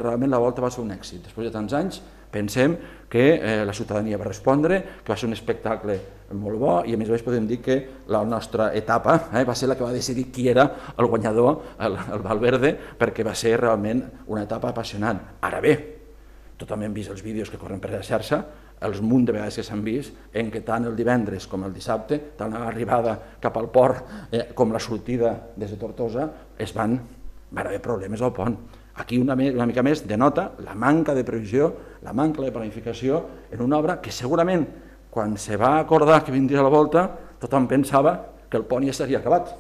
realment la volta va ser un èxit. Després de tants anys pensem que la ciutadania va respondre, que va ser un espectacle molt bo i a més podem dir que la nostra etapa va ser la que va decidir qui era el guanyador, el Valverde, perquè va ser realment una etapa apassionant. Ara bé, tothom hem vist els vídeos que corren per la xarxa, els munt de vegades que s'han vist, en què tant el divendres com el dissabte, tant l'arribada cap al port com la sortida des de Tortosa, van haver problemes al pont. Aquí una mica més denota la manca de previsió, la manca de planificació en una obra que segurament quan se va acordar que vindria la volta tothom pensava que el pont ja estaria acabat.